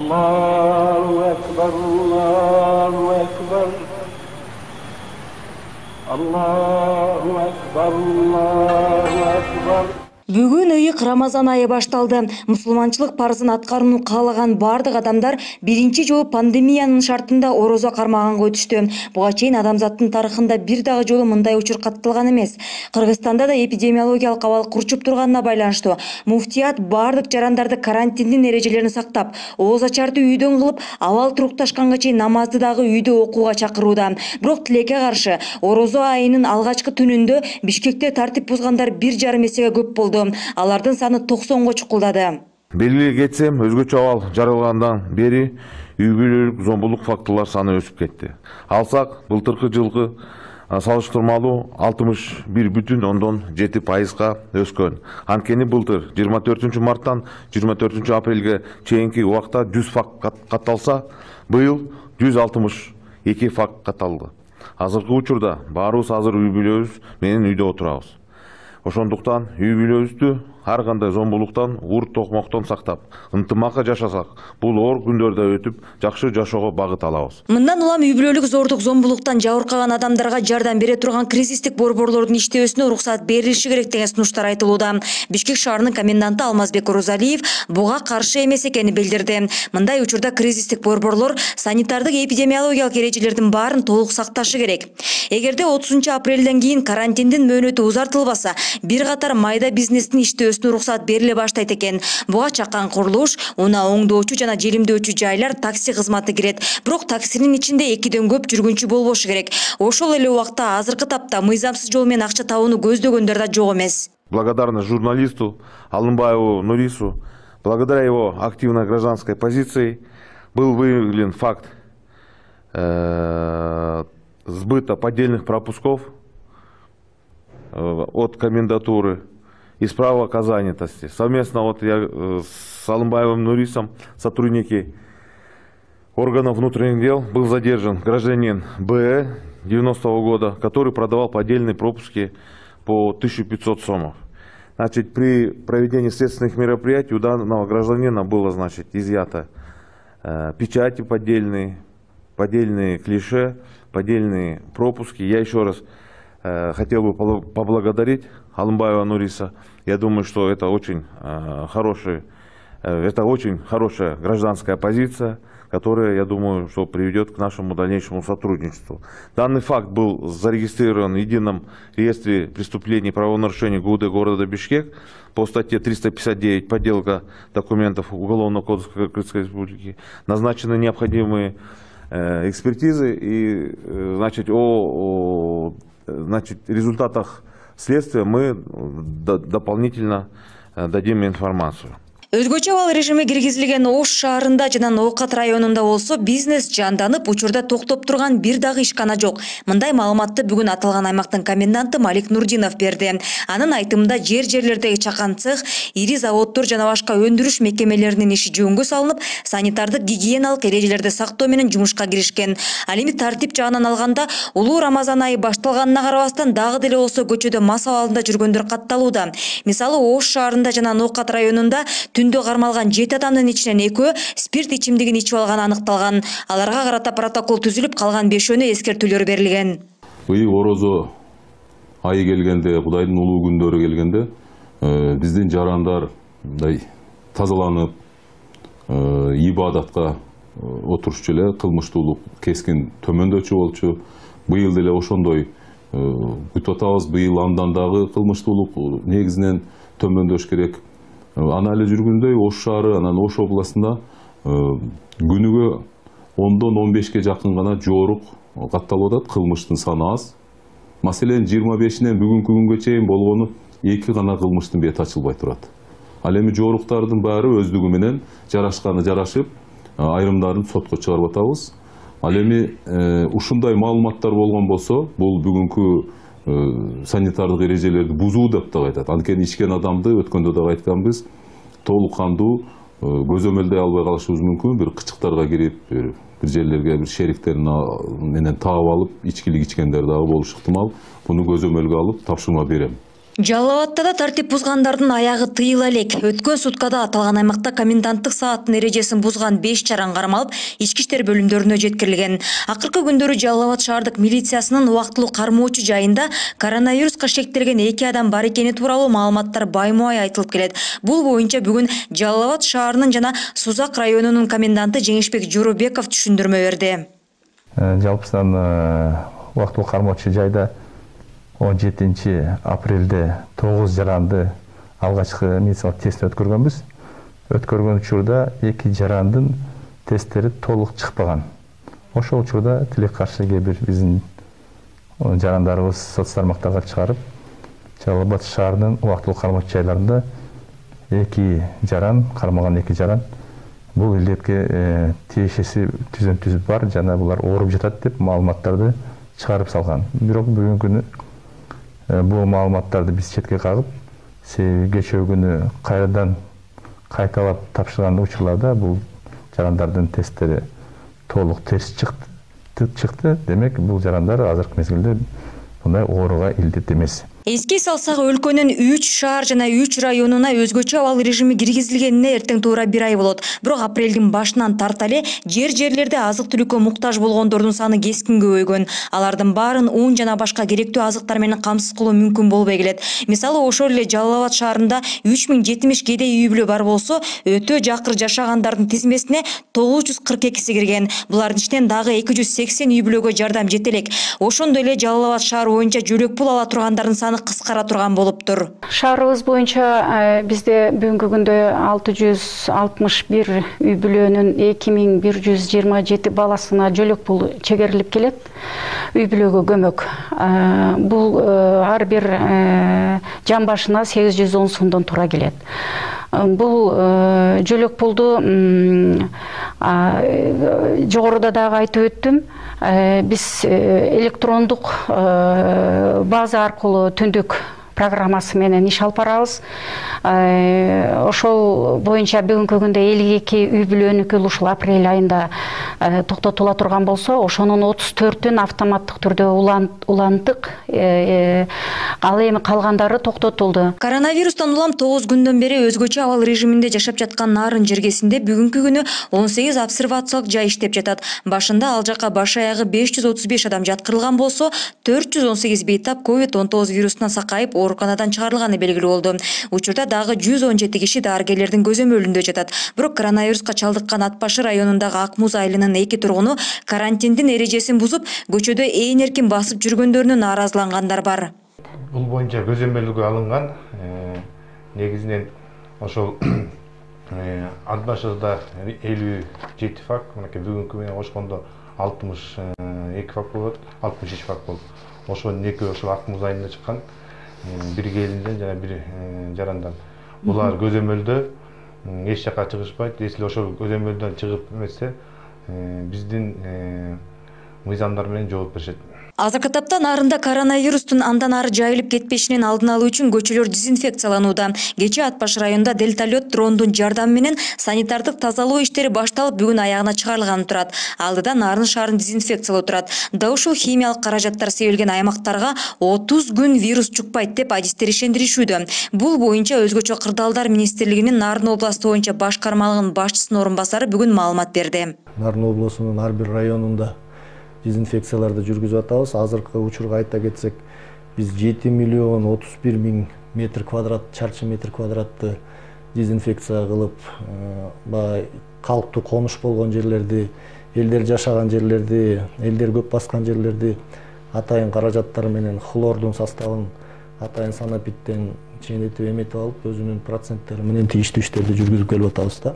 Allahu Ekber, Allahu Ekber. Allahu Ekber, Allahu Ekber. Бүгүн ыйык Рамазан айы башталды. Мусулманчылык парызын аткарууну каалаган бардык адамдар биринчи жолу пандемиянын шартында орозо кармаганга өтүштү. Буга чейин адамзаттын тарыхында бир дагы жолу мындай учур катталган эмес. Кыргызстанда да эпидемиологиялык абал курчуп турганына байланыштуу муфтият бардык жарандарды карантиндин эрежелерин сактап, ооз ачарды үйдөн кылып, абал турукташканга чейин намазды дагы үйдө окууга чакырууда. Бирок тилекке каршы орозо айынын алгачкы түнүндө Бишкекте тартип бузгандар 1,5 эсеге көп болду. Алардын саны 90го чукулдады. Белгилей кетсем, өзгөчө абал жарыялгандан бери үй бүлөлүк зомбулук фактылар саны өсүп кетти. Алсак, былтыркы жылкы салыштырмалуу 61,7% өскөн. Анткени былтыр 24 марттан 24 апрелге чейинки убакта 100 факт катталса, быйыл 162 факт катталды. Азыркы учурда баарыбыз азыр үй бүлөбүз менен үйдө отурабыз. Ошондуктан үй бүлөбүздү ар кандай зомбулуктан, урт токмоктон сактап, ынтымакка жашасак, бул оор күндөрдө өтүп, жакшы жашоого багыт алабыз. Мындан улам үй бүлөлүк зордук зомбулуктан жабыркаган адамдарга жардам бере турган кризистик борборлордун иштөөсүнө уруксат берилиши керек деген сунуштар айтылууда. Бишкек шаарынын коменданты Алмазбек Орозалиев буга каршы эмес экенин билдирди. Мындай учурда кризистик борборлор санитардык эпидемиологиялык эрежелердин баарын толук сакташы керек. Эгерде 30 апрелден кийин карантиндин мөөнөтү узартылбаса, бир катар майда бизнестин иштөөсүнө уруксат бериле баштайт экен. Буга чакан курулуш, унаа оңдоочу жана желимдөөчү жайлар, такси кызматы кирет. Бирок таксинин ичинде 2ден көп жүргүнчү болбошу керек. Ошол эле убакта азыркы тапта мыйзамсыз жол менен акча табууну көздөгөндөр да жок эмес. Благодарность журналисту Алымбаеву Нурису, благодаря его активной гражданской позиции был выявлен факт сбыта поддельных пропусков от комендатуры и справок о занятости. Совместно я с Алымбаевым Нурисом, сотрудники органов внутренних дел, был задержан гражданин Б 90-го года, который продавал поддельные пропуски по 1500 сомов. Значит, при проведении следственных мероприятий у данного гражданина было, изъято печати поддельные клише, поддельные пропуски. Я еще раз хотел бы поблагодарить Алымбаева Нуриса. Я думаю, что это очень хорошая гражданская позиция, которая, я думаю, что приведет к нашему дальнейшему сотрудничеству. Данный факт был зарегистрирован в едином реестре преступлений и правонарушений ГУВД города Бишкек по статье 359 «Подделка документов Уголовного кодекса Кыргызской Республики». Назначены необходимые экспертизы и о результатах следствия мы дополнительно дадим информацию. Өзгөчө абал режими киргизилген Ош шаарында жана Ноокат районунда болсо бизнес жанданып, учурда токтоп турган бир дагы ишкана жок. Мындай маалыматты бүгүн аталган аймактын коменданты Малик Нурдинов берди. Анын айтымында жерлердеги чакан цех, ири заводдор жана башка өндүрүш мекемелеринин иши жөнгө салынып, санитардык гигиеналык эрежелерди сактоо менен жумушка киришкен. Ал эми тартип жагынан алганда, улуу Рамазан айы башталганына карабастан дагы деле болсо көчөдө мас абалында жүргөндөр катталууда. Мисалы, Ош шаарында жана Ноокат районунда түндө кармалган 7 адамдын ичинен 2 спирт ичимдигин ичип алганы аныкталган. Аларга карата протокол түзүлүп, калган 5-өөнө эскертүүлөр берилген. Быйыл орозо айы келгенде, Кудайдын улуу күндөрү келгенде, биздин жарандар тазаланып, ибадатка отурушчу эле, кылмыштуулук кескин төмөндөчү болчу. Быйыл деле ошондой күтүп атабыз. Быйыл андан дагы кылмыштуулук негизинен төмөндөш керек. Ана эле жүргүндөй Ош шаары, анан Ош областында күнүгө 10-дон 15ке жакын гана жоорук катталып атат, кылмыштын саны аз. Маселен 25-инен бүгүнкү күнгө чейин болгону 2 гана кылмыштын бети ачылбай турат. Ал эми жооруктардын баары өздүгү менен жарашканы жарашып, айрымдарын сотко чыгарып атабыз. Ал эми ушундай маалыматтар болгон болсо, бул бүгүнкү санитардык эрежелерди бузуу деп дагы айтат. Анткени ичкен адамды өткөндө дагы айтканбыз, толук кандуу көзөмөлдөй албай калышыбыз мүмкүн. Бир кычыктарга кирип, бир жерлерге бир шериктерин менен таап алып, ичкилик ичкендер дагы болушу ыктымал. Буну көзөмөлгө алып тапшырма берем. Жалал Абадта да тартип бузгандардын аягы тыйыла элек. Өткөн суткада аталган аймакта коменданттык сааттын эрежесин бузган 5 чаран кармалып, ички иштер бөлүмдөрүнө жеткирилген. Акыркы күндөрү Жалал Абад шаардык милициясынын убактылуу кармоочу жайында коронавируска шектелген 2 адам бар экени тууралуу маалыматтар баймубай айтылып келет. Бул боюнча бүгүн Жалал Абад шаарынын жана Сузак районунун коменданты Жеңишбек Жоробеков түшүндүрмө берди. Жалпысынан убактылуу кармоочу жайда 17 апрелде 9 жаранды алгачкы медициналык тесттен өткөргөнбүз. Өткөргөн учурда 2 жарандын тесттери толук чыкпаган. Ошол учурда тилек каршы кээ бир биздин жарандарыбыз соц тармактарга чыгарып, Жалал Абад шаарынын убактылуу кармоочу жайларында 2 жаран, кармалган 2 жаран бул илдетке тиешеси түзүм бар жана булар ооруп жатат деп маалыматтарды чыгарып салган. Бирок бүгүнкү күнү бул маалыматтарды биз четке кагып, кечээ күнү кайрадан кайталап тапшырган учурларда бул жарандардын тесттери толук терс чыкты. Демек, бул жарандар азыркы мезгилде мындай ооруга илдет эмес. Эске салсак, өлкөнүн 3 шаар жана 3 районуна өзгөчө абал режими киргизилгенине эртең туура 1 ай болот. Бирок апрелдин башынан тарта эле жерлерде азык-түлүккө муктаж болгондордун саны кескин көбөйгөн. Алардын баарын ун жана башка керектүү азыктар менен камсыз кылуу мүмкүн болбой келет. Мисалы, ошол эле Жалал Абад шаарында 3070 кедей үй бүлө бар болсо, өтө жакыр жашагандардын тизмесине 942 кирген. Булардын ичинен дагы 280 үй бүлөгө жардам жете элек. Ошондой эле Жалал Абад шаары боюнча жөлөк пул ала тургандардын саны кыскара турган болуптур. Шаарыбыз боюнча бизде бүгүнкү күндө 661 үй бүлөнүн 2127 баласына жөлөк пул чегерилип келет. Үй бүлөгө көмөк. Бул ар бир жан башына 810 сомдон тура келет. Бул жөлөк пулду жогоруда дагы айтып өттүм. Биз электрондук база аркылуу түндүк программасы менен иш алып барабыз. Ошол боюнча бүгүнкү күндө 52 үй бүлөнүкү ушул апрель айында токтотула турган болсо, ошонун 34-ün автоматтык түрдө улантык. Ал эми калгандары токтотулду. Коронавирустан улам 9 күндөн бери өзгөчө абал режиминде жашап жаткан Нарын жергесинде бүгүнкү күнү 18 обсервациялык жай иштеп жатат. Башында ал жака баш аягы 535 адам жаткырылган болсо, 418 бейтап COVID-19 вирусунан сакайып ооруканадан чыгарылганы белгилүү болду. Учурда дагы 117 киши дарыгерлердин көзөмөлүндө жатат. Бирок коронавируска чалдыккан Ат башы районундагы Ак Муз айылынын 2 тургуну карантиндин эрежесин бузуп, көчөдө ээн эркин басып жүргөндөрүнө нааразылангандар бар. Бул боюнча көзөмөлгө алынган. Негизинен ошол Ат башыда 57 факт, бүгүнкү менен кошкондо 62 факт болот, 63 факт болот. Ошонун экөө ошол Ак Муз айылында чыккан. Бир келинден жана бир жарандан. Булар көзөмөлдө эч жака чыгышпайт. Если ошол көзөмөлдөн чыгып эмесе, биздин мыйзамдар менен жооп беришет. Азыркы тапта Нарында коронавирустун андан ары жайылып кетпешинин алдын алуу үчүн көчөлөр дезинфекцияланууда. Кечээ Ат башы районунда вертолет дрондун жардамы менен санитардык тазалоо иштери башталып, бүгүн аягына чыгарылганы турат. Алдыда Нарын шаарын дезинфекциялоо турат. Да ушул химиялык каражаттар себилген аймактарга 30 күн вирус чукпайт деп адистер ишендиришүүдө. Бул боюнча өзгөчө кырдаалдар министрлигинин Нарын областы боюнча башкармалыгынын башчысынын орун басары бүгүн маалымат берди. Нарын облусунун ар бир районунда дезинфекцияларды жүргүзүп атабыз. Азыркы учурга айта кетсек, биз 7 миллион 31 миң метр квадрат, чарчы метр квадратты дезинфекция кылып, калктуу конуш болгон жерлерди, элдер жашаган жерлерди, элдер көп баскан жерлерди атайын каражаттар менен хлордун составын атайын санапиттен чейнетип эметип алып, өзүнүн проценттери менен тийиштүү иштерди жүргүзүп келип атабыз да.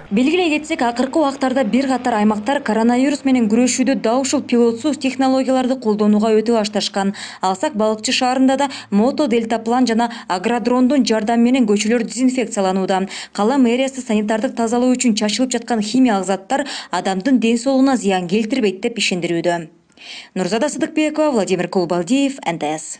Белгилей кетсек, акыркы убактарда бир катар аймактар коронавирус менен күрөшүүдө да ушул пилотсуз технологияларды колдонууга өтө башташкан. Алсак, Балыкчы шаарында да мото дельтаплан жана агродрондун жардамы менен көчөлөр дезинфекцияланууда. Кала мэриясы санитардык тазалоо үчүн чачылып жаткан химиялык заттар адамдын ден соолугуна зыян келтирбейт деп ишендирүүдө. Нурзада Сыдыкбекова, Владимир Кулбалдиев, НТС.